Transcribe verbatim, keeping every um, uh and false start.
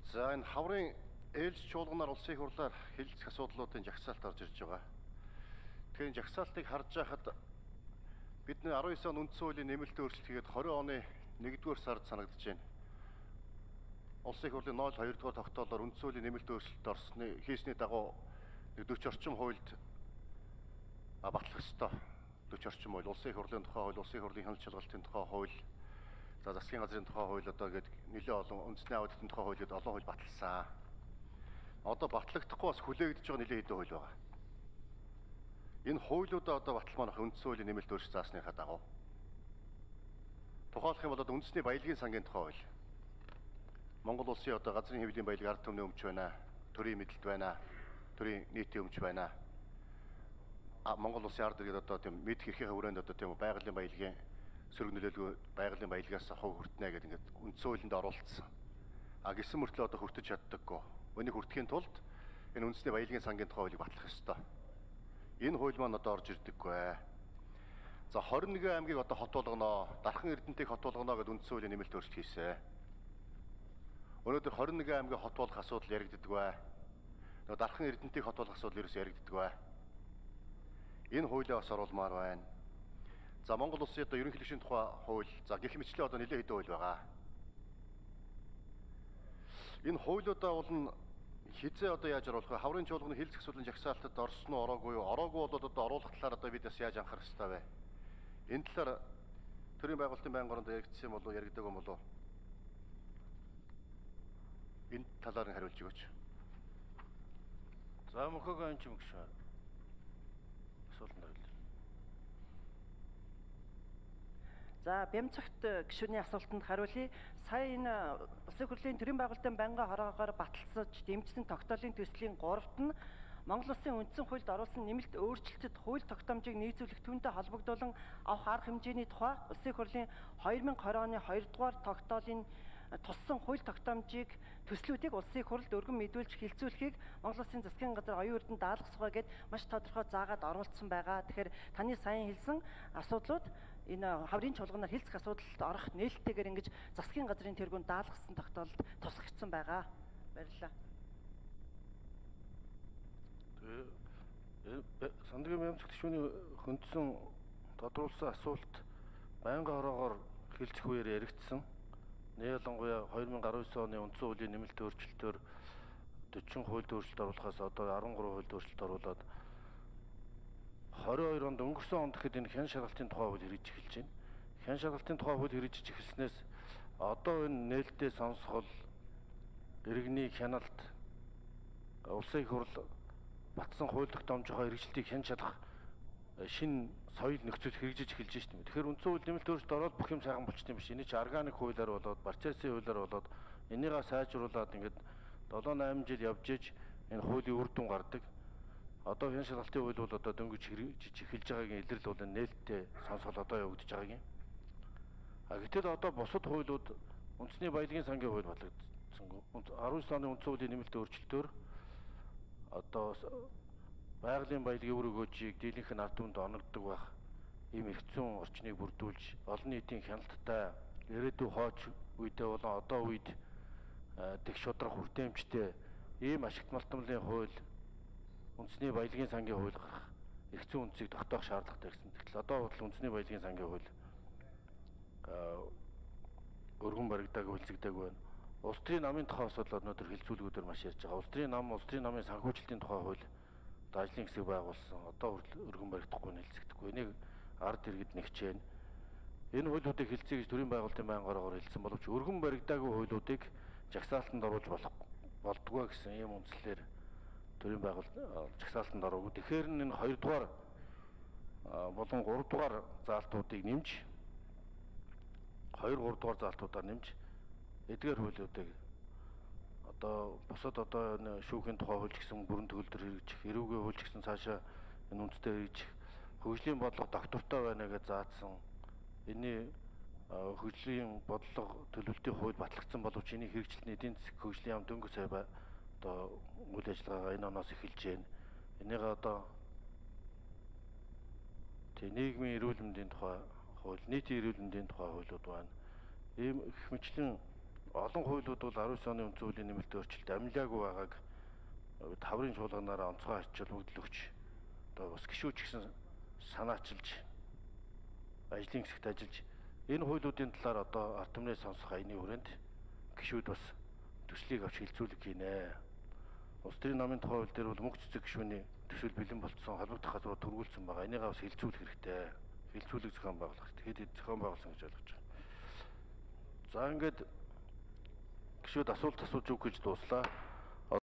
За энэ хаврын ээлж чуулганаар улсын их хурлаар хэлэлцэх асуудлуудын жагсаалт орж ирж байгаа. Тэгэхээр жагсаалтыг харж байхад бидний арван девь он үндсэн хуулийн нэмэлт өөрчлөлт хийгээд двадцать оны нэгдүгээр сард санагдаж байна. Улсын их хурлын ноль хоёр дугаар тогтоолоор үндсэн хуулийн нэмэлт өөрчлөлт орсны хийсний дагуу forty орчим хуульд батлах ёстой. forty орчим хууль, улсын их хурлын тухай хууль, улсын их хурлын хяналт шалгалтын тухай хууль, за засгийн газрын тухай хууль одоо гээд нэлээд олон үндэсний аудитын тухай хуулиуд олон хууль баталсан. Одоо батлагдахгүй бас хүлээгдэж байгаа нэлээд хэдэн хууль байгаа. Энэ хуулиудаа одоо баталмаах үндсэн хуулийн нэмэлт өөрчлөлт заасныхаа дагуу. Тухайлах юм бол одоо үндэсний баялагын сангийн тухай хууль. Монгол улсын одоо газрын хэвлэлийн баялаг ард түмний өмч байна, төрийн мэдлэлт байна, төрийн нийтийн өмч байна. А Монгол улсын ард иргэд одоо тийм мэд хэрхээ хүрээнд одоо тийм байгалийн баялагын сөрөг нөлөөлгүй байгалийн баялагаас хов хүртнэ гэдэг ингээд үндсэн хуулинд оруулсан. А гисэн мөртлөө одоо хүртэж чаддаггүй. Үнийг хүртэхийн тулд энэ үндэсний баялагын сангийн тухай хуулийг батлах ёстой. Энэ хууль маань одоо орж ирдэггүй. За twenty one аймгийг одоо хот болгоно, Дархан Эрдэнэтийг хот болгоно гэдэг үндсэн хуулийн нэмэлт өөрчлөлт хийсэн. Өнөөдөр twenty one аймгийг хот болгох асуудал яригддаг. Нөгөө Дархан Эрдэнэтийг хот болгох асуудал ерөөс яригддаг. Энэ хуулиа бас оруулмаар байна. За Монгол улсын одоо ерөнхийлөгчийн тухай хууль, за гэх мэтлээ одоо нэлээд хэдэн хууль байгаа. Энэ хуулиудаа бол хизээ одоо яаж оруулах вэ? Хаврын чуулганы хэлэлцэх асуудлын жагсаалтад орсон уу, ороогүй юу? Ороогүй бол одоо оруулах талаар одоо бид бас яаж анхаарах ёстой вэ? Энэ талаар төрийн байгуулалтын байнгын оронд яригдсан юм болов уу, яригдаг юм болов уу? Энэ талаар нь хариулж өгөөч. За мөхөөгөө энэ ч юм гэж асуултанд хариулъя. За Бямцагт гишүүний асуултанд хариулъя. Сая энэ улсын хурлын төрийн байгуулалтын байнгын хороогоор баталсаж дэмжсэн тогтоолын төслийн гуравт нь Монгол улсын үндсэн хуульд оруулсан нэмэлт өөрчлөлтөд хууль тогтоомжийг нийцүүлэх түүнтэй холбогдуулан авах арга хэмжээний тухай улсын хурлын two thousand twenty оны two дугаар тогтоолын туссан хууль тогтоомжийг төслүүдийг улсын их хурлд өргөн мэдүүлж хилцүүлэхийг Монгол Улсын засгийн газар оюун эрдэнэ даалгах сугаа гэд маш тодорхой заагаад оруулсан байгаа. Тэгэхээр таны сайн хэлсэн асуудлууд энэ хаврын чуулганаар хэлцэх асуудалд орох нээлттэйгээр ингэж засгийн газрын тэргүүнд даалгасан тогтоолд тусгагдсан байгаа. Баярлалаа. Тэгээ Сандгийн Бямцагт гишүүний хөндсөн тодруулсан асуулт байнгын хороогоор хэлцэх үеэр яригдсан. Ялангуяа two thousand nineteen оны үндсэн хуулийн нэмэлт өөрчлөлтөөр forty хуульд өөрчлөлт оруулахаас одоо thirteen хуульд өөрчлөлт оруулаад twenty-two онд өнгөрсөн онд гэхэд энэ хян шалгалтын тухай хууль хэрэгжиж эхэлж байна. Хян шалгалтын тухай хууль хэрэгжиж эхэлснээс одоо энэ нээлттэй сонсгол иргэний хяналт улсын их хурл батсан хууль тогтоомжийнхоо хэрэгжилтийг хян шалгах шинэ соёл нөхцөл хэрэгжиж эхэлж байна шүү дээ. Тэгэхээр үндсэн хууль нэмэлт өөрчлөлт ороод бүх юм сайхан болчихсон юм биш. Эний чи органик хуулиар болоод, процессын хуулиар болоод энийгээ сайжруулад ингээд seven eight жил явж иж энэ хуулийн үр дүн гардаг. Одоо хян шалгалтын хууль бол одоо дөнгөж хэрэгжиж эхэлж байгаагийн илрэл бол нээлттэй сонсгол одоо явагдаж байгаагийн. А гэтэл одоо бусад хуулиуд үндэсний баялагын сангийн хууль батлагдсангүй. nineteen оны үндсэн хуулийн нэмэлт өөрчлөлтөөр одоо байгалийн баялагын үр өгөөжийг дийлэнх нь ард түмэнд оногддог байх ийм эрх зүйн орчныг бүрдүүлж олон нийтийн хяналттай ирээдүйн хооч үедээ болон одоо үед дэх шудрах хүртээмжтэй ийм ашигт малтмлын хууль үндэсний баялагын сангийн хууль гарах эрх зүйн үндсийг тогтоох шаардлагатай гэсэн. Тэгтэл одоо бол үндэсний баялагын сангийн хууль өргөн баригдаагүй хэлцэгдээг байна. Улс төрийн намын тухай асуудал өнөөдөр хэлцүүлгүүдээр маш ярьж байгаа. Улс төрийн нам, улс төрийн намын санхүүжилтийн тухай хууль ажлын хэсэг байгуулсан. Одоо өргөн баригдахгүй хэлцэгдэхгүй. Энийг ард иргэд нэгч байна. Энэ хуулиудыг хэлцэе гэж төрийн байгуулалтын байнгын хороогоор хэлсэн боловч өргөн баригдаагүй хуулиудыг жагсаалтанд оруулж болох болдгоо гэсэн ийм үндслээр төрийн байгуулалт жагсаалтанд ороогүй. Тэгэхээр энэ two дугаар болон three дугаар заалтуудыг нэмж two three дугаар заалтуудаар нэмж эдгээр хуулиудыг одоо бусад одоо энэ шүүхийн тухай хууль гэсэн бүрэн төгөлдөр хэрэгжих, эрүүгийн хууль гэсэн цаашаа энэ үндэстэй хэрэгжих, хөгжлийн бодлого доктортой байна гэж заасан. Энийн хөгжлийн бодлого төлөвлөлтийн хууль батлагдсан боловч энийг хэрэгжилтний эдийн засаг хөгжлийн яам дөнгөж сая одоо үйл ажиллагаа энэ оноос эхэлж байна. Энийг одоо тэг нийгмийн эрүүл мэндийн тухай хууль, нийтийн эрүүл мэндийн тухай хуулиуд байна. Ийм их мэтлэн олон хуулиуд бол аравын оны үндсэн хуулийн нэмэлт өөрчлөлт амлаагүй байгааг таврын чуулганаараа онцгой арчилбогдол өгч одоо бас гишүүч гэсэн санаачилж ажлын хэсэгт ажиллаж энэ хуулиудын талаар одоо ард түмний сонсох аяны хүрээнд гишүүд бас төслийг авч хилцүүлэг хийнэ. Улс төрийн намын тухай хууль дээр бол мөнх цэцэг гишүүний төсөл бэлэн болцсон холбогдох газрууд төрүүлсэн байгаа. Энийгээ бас хилцүүлэх хэрэгтэй. Хилцүүлэг зохион байгуулах хэрэгтэй. Хэд хэд зохион байгуулсан гэж ойлгож байна. За ингээд гишүүд асуулт асууж үг гэж дууслаа.